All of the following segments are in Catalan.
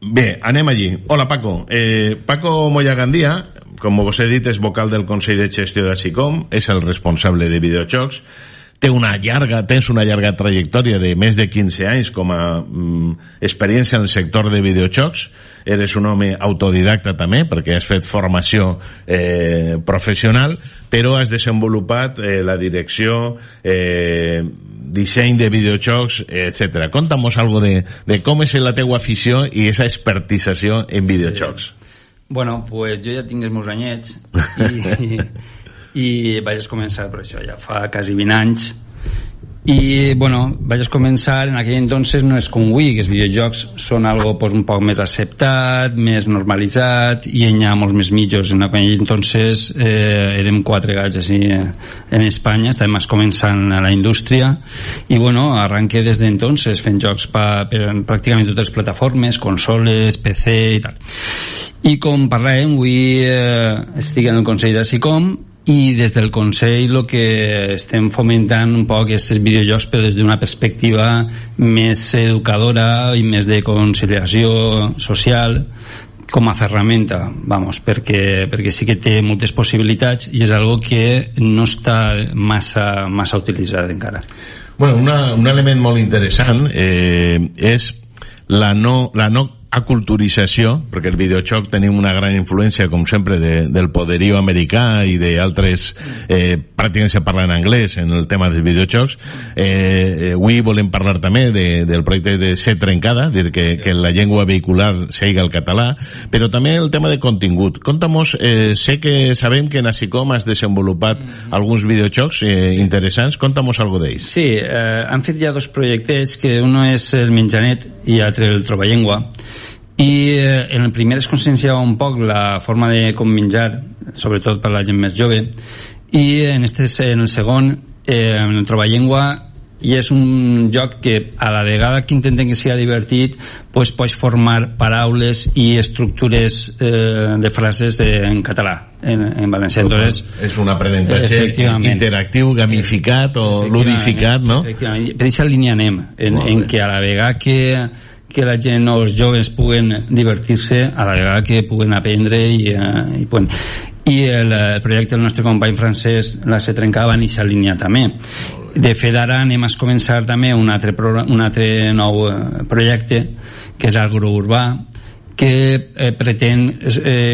Bé, anem allí. Hola, Paco. Paco Moya-Gandia, com vos he dit, és vocal del Consell de Gestió d'Assicom, és el responsable de videojocs, tens una llarga trajectòria de més de 15 anys com a experiència en el sector de videojocs. Eres un home autodidacta també, perquè has fet formació professional, però has desenvolupat la direcció, disseny de videojocs, etc. Conta'm algo de com és la teua afició i esa expertització en videojocs. Bueno, pues jo ja tinc els meus anyets i vaig començar per això, ja fa quasi 20 anys. I bueno, vaig començar en aquell entonces, no és com avui, que els videojocs són algo pues, un poc més acceptat, més normalitzat, i hi ha molts més mitjos. En aquell entonces érem 4 gats així en Espanya, estàvem començant a la indústria, i bueno, arranqué des d'entonces fent jocs per pràcticament totes les plataformes, consoles, PC i tal. I com parlàvem, avui estic en el Consell d'Assicom, i des del Consell el que estem fomentant un poc és els videojocs, però des d'una perspectiva més educadora i més de conciliació social com a ferramenta, perquè sí que té moltes possibilitats i és algo que no està massa utilitzat encara. Bueno, un element molt interessant és la no aculturització, perquè el videojoc tenim una gran influència, com sempre, del poderío americà i d'altres pràcticament se parla en anglès en el tema dels videojocs. Avui volem parlar també del projecte de Ser Trencada, dir que la llengua vehicular sigui el català, però també el tema de contingut. Conta'm-nos, sabem que en Assicom has desenvolupat alguns videojocs interessants, conta'm-nos algo d'ells. Sí, han fet ja 2 projectes, que uno és el Menjanet i l'altre el Troballengua, i en el primer es conscienciava un poc la forma de com menjar, sobretot per la gent més jove, i en el segon, en el Troballengua, i és un joc que a la vegada que intenten que sigui divertit, pues pots formar paraules i estructures de frases en català, en valencià. Entonces, és un aprenentatge interactiu, gamificat o ludificat, no? Efectivament. Per aquesta línia anem, en que a la vegada que la gent o els joves puguen divertir-se, a la vegada que puguen aprendre i el projecte del nostre company francès, la Ser Trencada, va en aquesta línia també. De fet, ara anem a començar també un altre nou projecte, que és Agrourbà, que pretén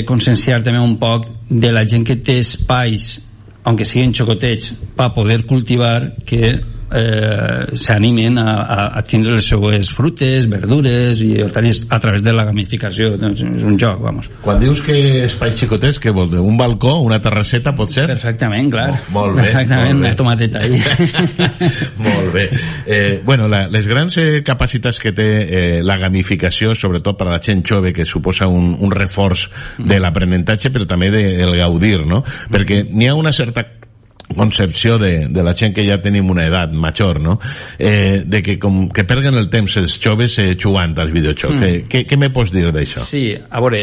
conscienciar també un poc de la gent que té espais, aunque siguin xocotets, per poder cultivar, que s'animen a tindre les seues frutes, verdures i hortalisses a través de la gamificació. Doncs és un joc, vamos. Quan dius que espais xicotets, què vols dir? Un balcó, una terrasseta, pot ser? Perfectament, clar. Molt bé. Perfectament, una tomateta ahí. Molt bé. Bueno, les grans capacitats que té la gamificació, sobretot per a la gent jove, que suposa un reforç de l'aprenentatge, però també del gaudir, no? Perquè n'hi ha una certa concepció de la gent que ja tenim una edat major, no? De que perden el temps els joves jugant als videojocs. Què me pots dir d'això? Sí, a veure,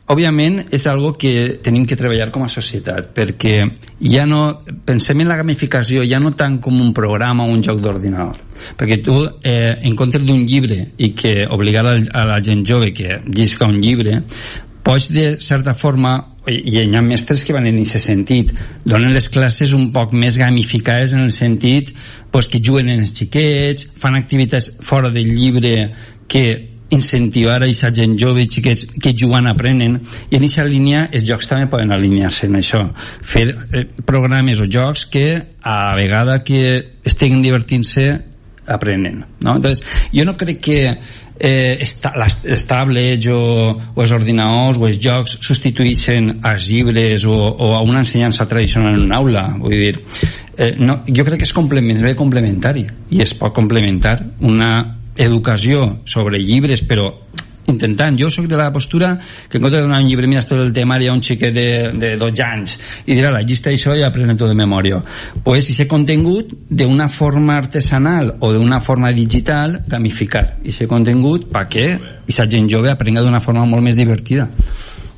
òbviament és algo que tenim que treballar com a societat, perquè ja no pensem en la gamificació ja no tant com un programa o un joc d'ordinador, perquè tu en comptes d'un llibre i que obligar a la gent jove que llisca un llibre, pots de certa forma, i hi ha mestres que van en aquest sentit, donen les classes un poc més gamificades en el sentit pues, que juguen en els xiquets, fan activitats fora del llibre que incentivar a aquesta gent jove i xiquets que jugant aprenen, i en aquesta línia els jocs també poden alinear-se en això, fer programes o jocs que a la vegada que estiguin divertint-se aprenen, no? Entonces, jo no crec que les tablets o els ordinadors o els jocs substitueixen als llibres o a una ensenyança tradicional en una aula. Vull dir, no, jo crec que és complementari i es pot complementar una educació sobre llibres, però intentant, jo soc de la postura que en compte de donar un llibre, mira, esto del temari a un xiquet de 12 anys i dirà la llista d'això i aprenen tot de memòria, pues si s'ha contingut d'una forma artesanal o d'una forma digital, gamificar i s'ha contingut perquè aquesta gent jove aprenga d'una forma molt més divertida.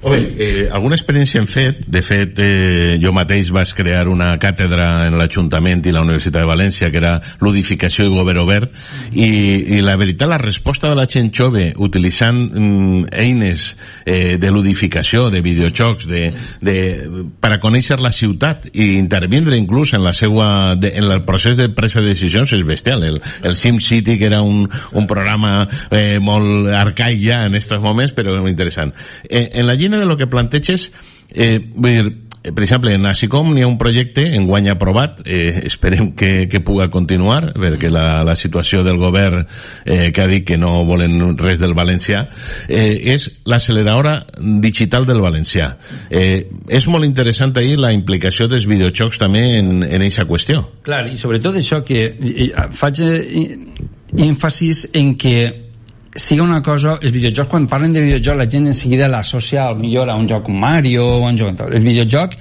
Alguna experiència hem fet. De fet, jo mateix vaig crear una càtedra en l'Ajuntament i la Universitat de València, que era ludificació i govern obert, i la veritat, la resposta de la gent jove utilitzant eines de ludificació, de videojocs, per a conèixer la ciutat i intervindre inclús en el procés de presa de decisions és bestial. El SimCity, que era un programa molt arcaic ja en aquests moments, però molt interessant. En la línia de lo que planteges, vull dir, per exemple, en ASICOM n'hi ha un projecte enguany aprovat, esperem que puga continuar, perquè la situació del govern que ha dit que no volen res del valencià, és l'acceleradora digital del valencià. És molt interessant ahir la implicació dels videojocs també en aquesta qüestió. Clar, i sobretot això que faig èmfasis en que siga una cosa, els videojocs, quan parlen de videojoc la gent en seguida l'associa millor a un joc com Mario o un joc. El videojoc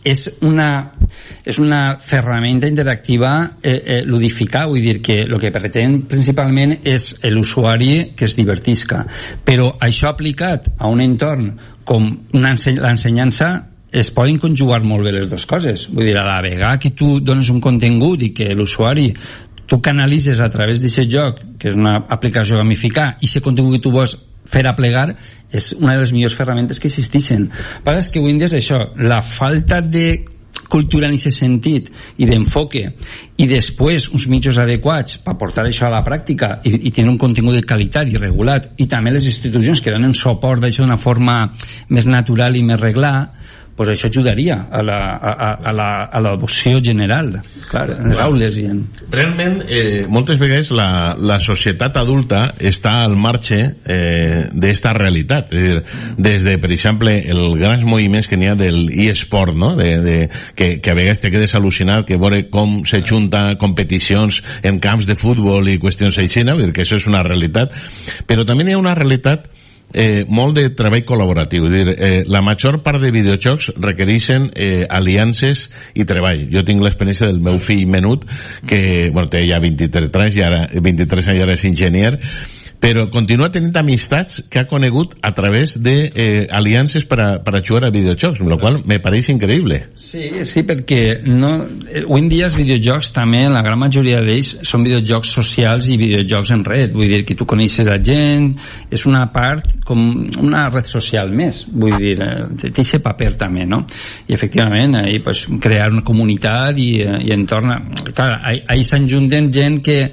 és una ferramenta interactiva ludificar, vull dir que el que pretén principalment és l'usuari que es divertisca, però això aplicat a un entorn com l'ensenyança es poden conjugar molt bé les dues coses. Vull dir, a la vegada que tu dones un contingut i que l'usuari tu canalitzes a través d'aquest joc, que és una aplicació gamificar, i aquest contingut que tu vols fer aplegar, és una de les millors ferramentes que existeixen. Però és que avui en dia és això, la falta de cultura en aquest sentit i d'enfoque, i després uns mitjans adequats per portar això a la pràctica i tenir un contingut de qualitat i regulat, i també les institucions que donen suport d'això d'una forma més natural i més reglada, pues això ajudaria a l'adopció general, clar, en les aules i en... Realment, moltes vegades la societat adulta està al marge d'esta realitat. És dir, des de, per exemple, els grans moviments que n'hi ha del e-sport, no? Que a vegades te quedes al·lucinat que veure com se junta competicions en camps de futbol i qüestions així, no? Que això és una realitat. Però també hi ha una realitat molt de treball col·laboratiu. La major part de videojocs requereixen aliances i treball. Jo tinc l'experiència del meu fill menut, que té ja 23 anys i ara és enginyer, però continua tenint amistats que ha conegut a través de aliances per a jugar a videojocs, amb la qual me pareix increïble. Sí, perquè avui en dia els videojocs també, la gran majoria d'ells són videojocs socials i videojocs en red, vull dir que tu coneixes la gent, és una part com una red social més, vull dir, té aquest paper també, no? I efectivament, ahí pues, crear una comunitat i entorn, clar, ahí s'enjunten gent que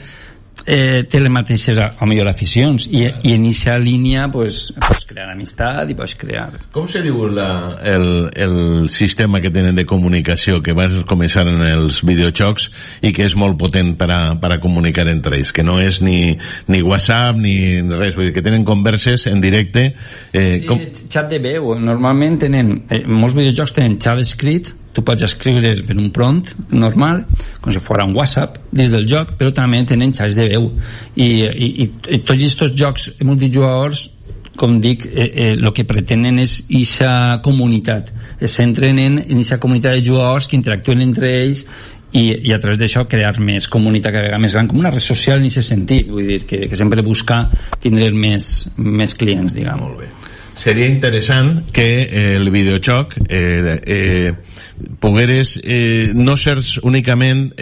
té les mateixes a millor aficions i en aquesta línia pues crear amistat i pues crear... Com se diu el sistema que tenen de comunicació que vas començar en els videojocs i que és molt potent per a comunicar entre ells, que no és ni WhatsApp ni res, vull dir que tenen converses en directe xat de veu, normalment tenen molts videojocs tenen xat escrit, tu pots escriure per un prompt normal, com si fos un WhatsApp dins del joc, però també tenen xats de veu i tots aquests jocs multijugadors, com dic, el que pretenen és aquesta comunitat, es centren en aquesta comunitat de jugadors que interactuen entre ells i a través d'això crear més comunitat cada vegada més gran, com una red social en aquest sentit, vull dir que sempre buscar tindre més clients, diguem. Molt bé. Seria interessant que el videojoc pogueres no ser únicament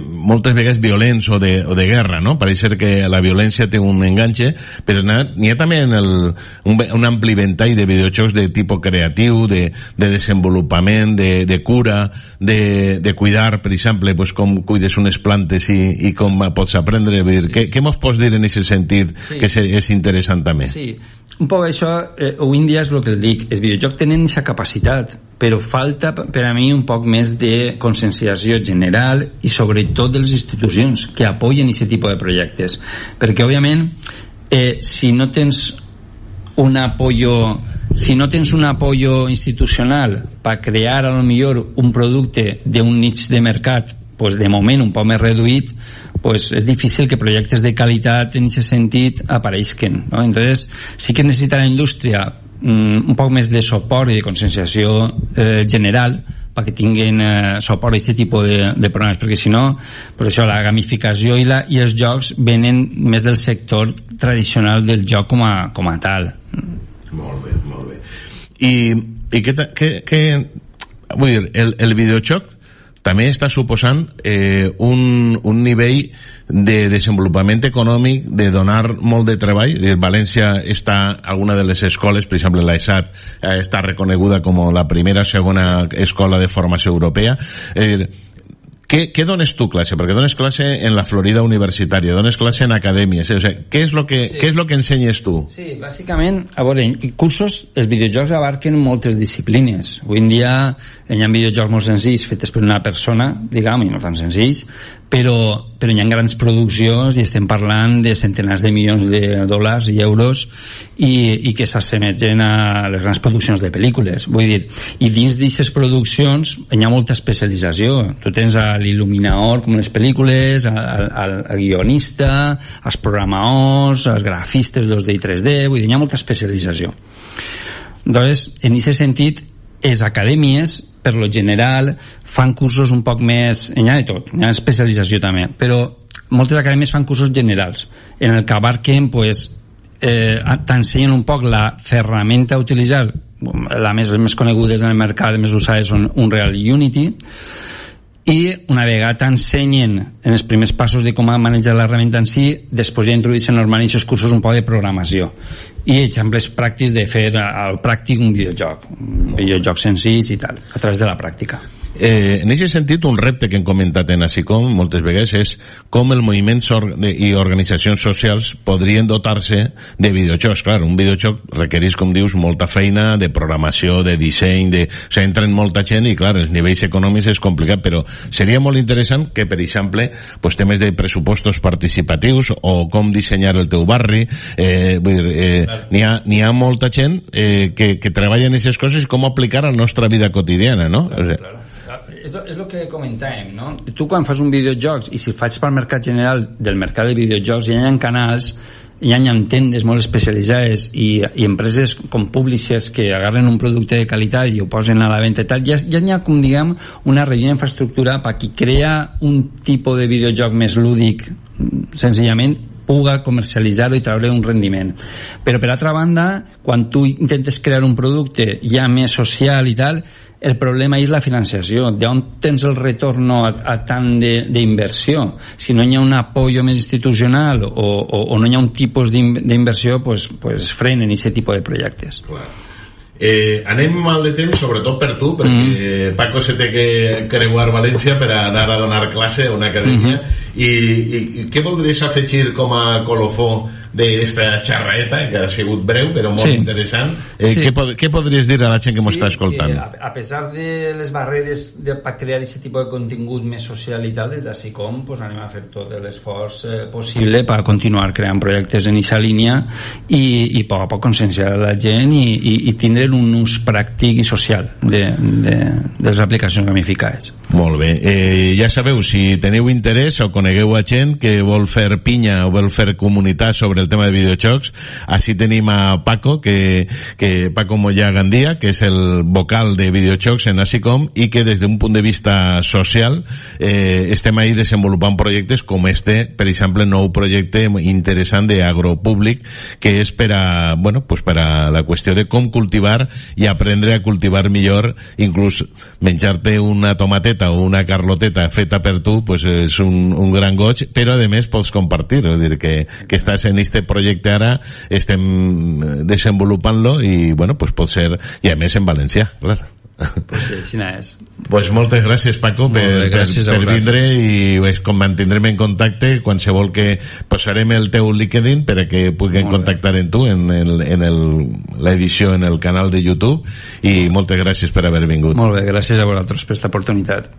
moltes vegades violents o de guerra, no? Pareix ser que la violència té un enganxe, però n'hi ha també un ampli ventall de videojocs de tipus creatiu, de desenvolupament, de cura, de cuidar, per exemple, pues, com cuides unes plantes i com pots aprendre. Què mos pots dir en aquest sentit que és interessant també? Sí, un poc això, avui en dia és el que dic, els videojocs tenen aquesta capacitat, però falta per a mi un poc més de conscienciació general i sobretot de les institucions que apoyen aquest tipus de projectes, perquè òbviament si no tens un apoyo institucional per crear a lo millor un producte d'un niche de mercat pues de moment un poc més reduït, pues és difícil que projectes de qualitat en aquest sentit apareixen, no? Entonces sí que necessita la indústria un poc més de suport i de conscienciació general perquè tinguin suport a aquest tipus de programes, perquè si no, per això la gamificació i els jocs venen més del sector tradicional del joc com a tal. Molt bé, molt bé. I vull dir, el videojoc també està suposant un nivell de desenvolupament econòmic, de donar molt de treball. València està, alguna de les escoles, per exemple l'ESAT, està reconeguda com la primera o segona escola de formació europea. ¿Qué dones tu clase? Porque dones clase en la Florida universitaria, dones clase en acadèmies, o sea, ¿qué es lo que ensenyes tu? Sí, bàsicament, a veure, cursos, els videojocs abarquen moltes disciplines. Avui en dia hi ha videojocs molt senzills fetes per una persona, diguem, i no tan senzills, però hi ha grans produccions i estem parlant de centenars de milions de dòlars i euros i que s'assemegen a les grans produccions de pel·lícules. Vull dir, i dins d'aquestes produccions hi ha molta especialització. Tu tens l'il·luminador, com les pel·lícules, el guionista, els programadors, els grafistes 2D i 3D, vull dir, hi ha molta especialització. Doncs, en aquest sentit, les acadèmies, per lo general, fan cursos un poc més... Hi ha de tot, hi ha especialització també, però moltes acadèmies fan cursos generals, en el que abarquen, pues, t'ensenyen un poc la ferramenta a utilitzar, les més conegudes en el mercat, les més usades són Unreal i Unity, i una vegada t'ensenyen en els primers passos de com manejar l'herramienta en si, després ja introdueixen normalment aquests cursos un poc de programació i exemples pràctics de fer al pràctic un videojoc senzill i tal, a través de la pràctica. En aquest sentit, un repte que hem comentat en ASICOM moltes vegades és com el moviment i organitzacions socials podrien dotar-se de videojocs. Clar, un videojoc requereix, com dius, molta feina de programació, de disseny, o sigui, entren molta gent i, clar, els nivells econòmics és complicat, però seria molt interessant que, per exemple, pues, temes de pressupostos participatius o com dissenyar el teu barri, vull dir, n'hi ha molta gent que treballa en aquestes coses i com aplicar a la nostra vida quotidiana, no? Claro. És el que comentàvem, no? Tu quan fas un videojocs, i si faig pel mercat general del mercat de videojocs, hi ha canals, hi ha tendes molt especialitzades i empreses com publishers que agarren un producte de qualitat i ho posen a la venda i tal, ja hi ha, com diguem, una regió d'infraestructura per qui crea un tipus de videojoc més lúdic, senzillament puga comercialitzar-ho i treure un rendiment. Però per altra banda, quan tu intentes crear un producte ja més social i tal, el problema és la financiació, d'on tens el retorn a tant d'inversió. Si no hi ha un apoyo més institucional o no hi ha un tipus d'inversió, pues frenen aquest tipus de projectes. Anem mal de temps, sobretot per tu, perquè Paco se té que creuar València per anar a donar classe a una acadèmia. I què voldries afegir com a colofó d'esta xerraeta, que ha sigut breu però molt interessant? Què podries dir a la gent que m'ho està escoltant? A pesar de les barreres per crear aquest tipus de contingut més social i tal, des d'ASICOM anem a fer tot l'esforç possible per continuar creant projectes en aquesta línia i a poc a poc conscienciar la gent i tindre un ús pràctic i social de les aplicacions gamificades. Molt bé, ja sabeu, si teniu interès o conegueu a gent que vol fer pinya o vol fer comunitat sobre el tema de videojocs, així tenim a Paco, Paco Moya Gandia, que és el vocal de videojocs en ASICOM i que des d'un punt de vista social estem ahí desenvolupant projectes com per exemple, nou projecte interessant d'agropúblic que és per a la qüestió de com cultivar i aprendre a cultivar millor, inclús menjar-te una tomateta o una carloteta feta per tu, pues és un gran goig, però a més pots compartir, és dir, que estàs en este projecte ara, estem desenvolupant-lo i pues pot ser, i a més en valencià, clar. Pues sí, així és. Pues moltes gràcies, Paco, per vindre i com mantindrem en contacte qualsevol que posarem el teu LinkedIn per a que puguin contactar amb tu en l'edició en el canal de YouTube i moltes gràcies per haver vingut. Molt bé, gràcies a vosaltres per aquesta oportunitat.